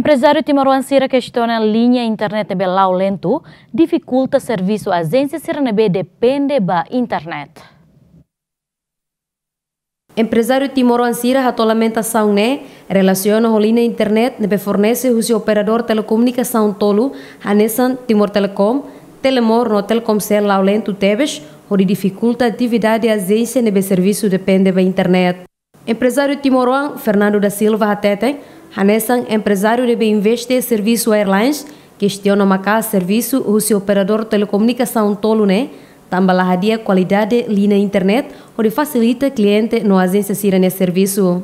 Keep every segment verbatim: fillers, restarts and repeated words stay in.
Emprezáriu timoroan sira kestiona liña internet ne'ebé la'o lentu, difikulta servisu ajénsia sira ne'ebé depende ba internet. Emprezáriu timoroan sira hato'o lamentasaun ne'e relasiona ho liña internet ne'ebé fornese husi operadór telekomunikasaun tolu hanesan Timor Telecom, Telemor no Telkomcel la'o lentu tebes, hodi difikulta atividade ajénsia ne'ebé servisu depende ba internet. Emprezáriu timoroan Fernando da Silva hateten, hanesan emprezáriu ne'ebé investe servisu airlines, kestiona maka'as servisu husi operadór telekomunikasaun tolu ne'e, tanba la hadi'a kualidade liña internet hodi fasilita kliente no ajénsia sira-nia servisu.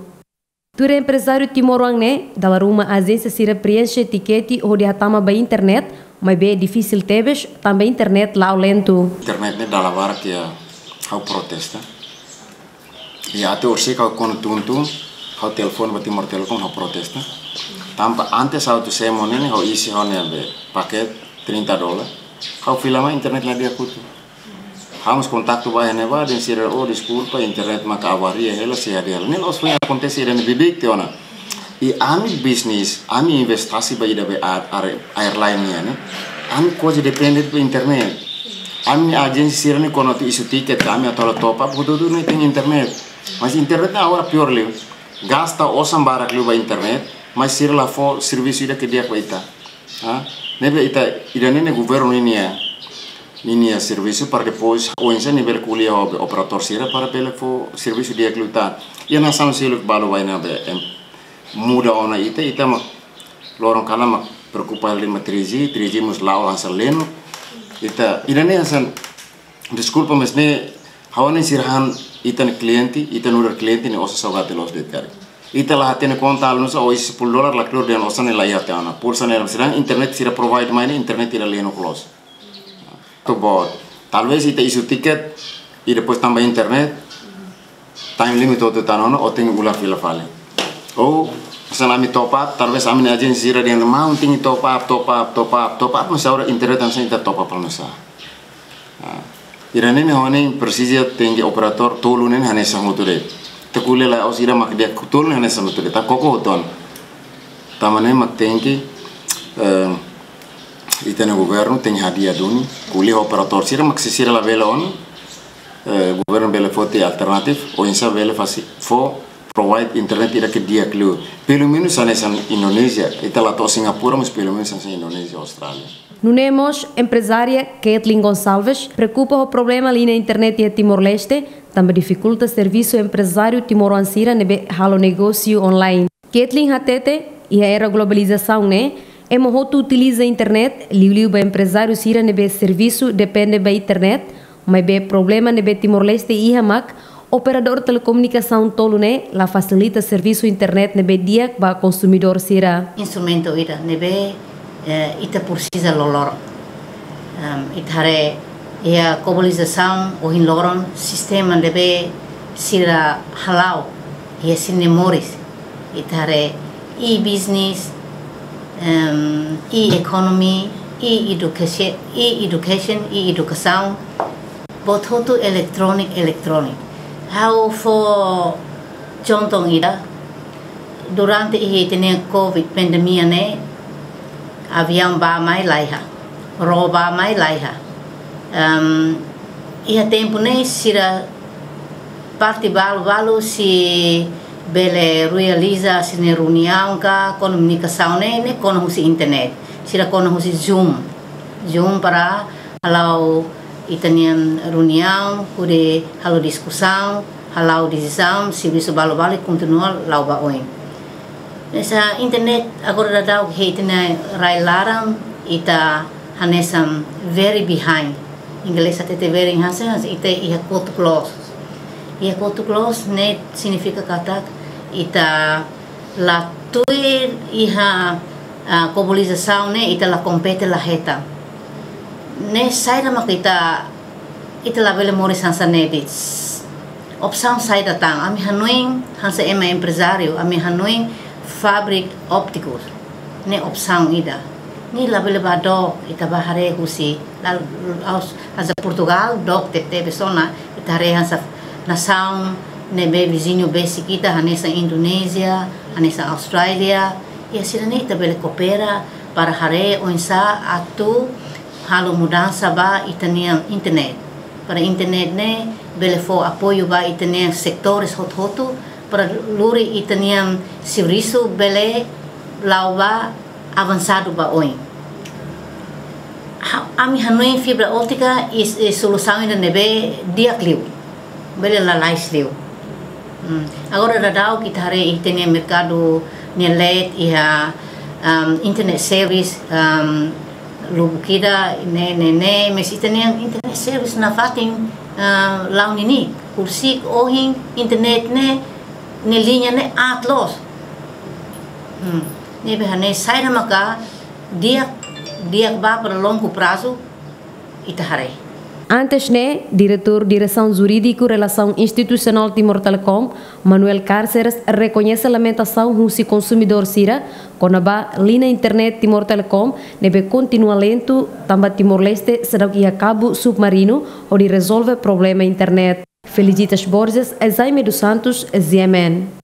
Tuir emprezáriu timoroan ne'e, dala ruma ajénsia sira preenxe tikete hodi hatama ba internet, maibé difisil tebes tanba internet la'o lentu. Internet ne'e dala barak iha ha'u protesta. I até orsida ha'u kuandu tun-tun, ha'u telefone ba Timor Telecom, ha'u protesta. Tanba antes ha'u atu semo ne'e, ha'u isin ha'u-nia be paket trinta dolar. Ha'u fila mai, internet la di'ak hotu. Ha'u mós kontaktu ba iha ne'ebá, dehan sira, "Oh, deskulpa, internet mak avaria hela, sei hadi'a hela." Ne'e la'ós foin akontese ida-ne'e, bibi-beik tiha ona. I ami bisnis, ami investasi ba ida be air-, air-, airline nian ne'e. Ami kuaze depende ba internet. Ami ajénsia sira-ne'e kuandu atu isu tiket, ami atu halo top up, hotu-hotu ne'e tenke internet. Mas internet ne'e agora piór liu. Gasta osan barak liu ba internet, mas sira la fó servisu ida ke di'ak ba ita. Ha? Ne'ebé ita, ida-ne'e ne'e governu ninia, ninia servisu para depois oinsá nia bele ko'alia ho operadór sira para bele fó servisu di'ak liután. Iha nasaun seluk balu bainhira be, em, muda ona ita, ita mak loron kalan mak preokupa liu ba three G, three G mós la'o hanesan leno. Ita, ida-ne'e hanesan, deskulpa, mas ne'e ha'u hanoin sira han ita-nia kliente, ita nu'udar kliente ne'e osan saugati loos de'it karik. Ita la hatene konta halo nu'usá, oinsá sepuluh dolar la kleur dehan osan ne'e la iha tiha ona. Pulsa ne'e, sedangkan internet sira provide mai ne'e internet ida leno close. Tu bot. Talvés ita isu tiket, i depois tanba internet, time limit hotu tan ona, o tenke ular fila fali. Ou, hanesan ami top up, talvés ami-nia ajénsia sira dehan, "Maun tenke top up, top up, top up, top up," mas agora internet hanesan ita top up halo nu'usá. Ah, ida-ne'e ne'e ha'u hanoin presiza tenke operadór tolu ne'e hanesan hotu de'it. Ita ko'alia la'ós ida mak di'ak, tolu ne'e hanesan hotu de'it. Ita koko hotu ona. Tanba ne'e mak tenke, eh, ita-nia governu tenke hadi'a duni, ko'alia ho operadór sira mak se sira labele ona, eh, governu bele foti alternatif, oinsá bele fasi, fó provide internet ida ke di'ak liu. Pelumenus hanesan Indonézia, ita la to'o Singapura, mas pelumenus hanesan Indonézia, Austrália. Nune'e mós, emprezária Kathleen Gonçalves preokupa ho problema liña internet iha Timor-Leste, tanba difikulta servisu emprezáriu timoroan sira ne'ebé halo negósiu online. Kathleen hatete, iha era globalizasaun ne'e, ema hotu utiliza internet, liuliu ba emprezáriu sira ne'ebé servisu depende ba internet, maibé problema ne'ebé Timor-Leste iha mak operadór telekomunikasaun tolu ne'e la fasilita servisu internet ne'ebé di'ak ba konsumidór sira. Instrumentu ida ne'ebé, eh, ita presiza loroloron. Em, ita haree iha globalizasaun ohin loron sistema ne'ebé sira hala'o iha sira-nia moris. Ita haree e-business, em, e-economy, e-education, e-education, e-edukasaun, buat hotu eletróniku, eletróniku. Ha'u fó contoh ida, durante iha ita-nia covid pandemia ne'e, aviaun bá mai laiha, ró bá mai laiha. Em, iha tempu ne'e sira parte balu-balu sei bele realiza sira-nia reuniaun ka komunikasaun ne'e, ne'e kona husi internet. Sira kona husi Zoom. Zoom para hala'o ita-nia reuniaun, hodi halo diskusaun, hala'o desizaun, servisu balu-balu kontinua la'o ba oin. Hanesan internet agora daudaun iha ita-nia rai laran, ita hanesan very behind. Inglés hatete very hanesan, hanesan ita iha kotuk loos. Iha kotuk loos ne'e signifika katak ita la tuir iha, ah, globalizasaun ne'e, ita la kompete, la hetan. Ne'e saida mak ita, ita labele moris hanesan ne'e de'it. Opsaun saida tan? Ami hanoin hanesan ema emprezáriu, ami hanoin fábrika óptikus. Ne'e opsaun ida. Ne'e labele bá dook, ita bá haree husi, la, aus-, hanesan Portugal, dook tebetebes ona, ita haree hanesan nasaun ne'ebé viziñu besik ita, hanesan Indonézia, hanesan Austrália, Iha sira-ne'e ita bele koopera para haree oinsá atu halo mudansa ba ita-nia internet. Para internet ne'e bele fó apoiu ba ita-nia setores hotu-hotu, para lori ita-nia servisu bele la'o ba avansadu ba oin. Ha-, ami hanoin fibra ótika is, is solusaun ida ne'ebé di'ak liu. Bele lalais liu. Hmm. Agora daudaun ita haree ita-nia merkadu nia leet iha, um, internet service, um, lubuk ida ne'e, ne'e, ne'e, mas ita-nia internet service nafatin, uh, la'o ninia. Horiseik ohin internet ne'e, nia liña ne'e aat loos. Hmm. Ne'ebé hanesan saida maka di'ak, di'ak ba para longu prazu ita haree. Antes ne'e, Diretór Diresaun Jurídiku Relasaun Institusionál Timor Telecom, Manuel Cárceres, rekoñese lamentasaun husi konsumidór sira kona-ba liña internet Timor Telecom ne'ebé kontinua lentu, tanba Timor-Leste seidauk iha kabu submarinu hodi rezolve problema internet. Felicitas Borges, Jaime dos Santos, G M N.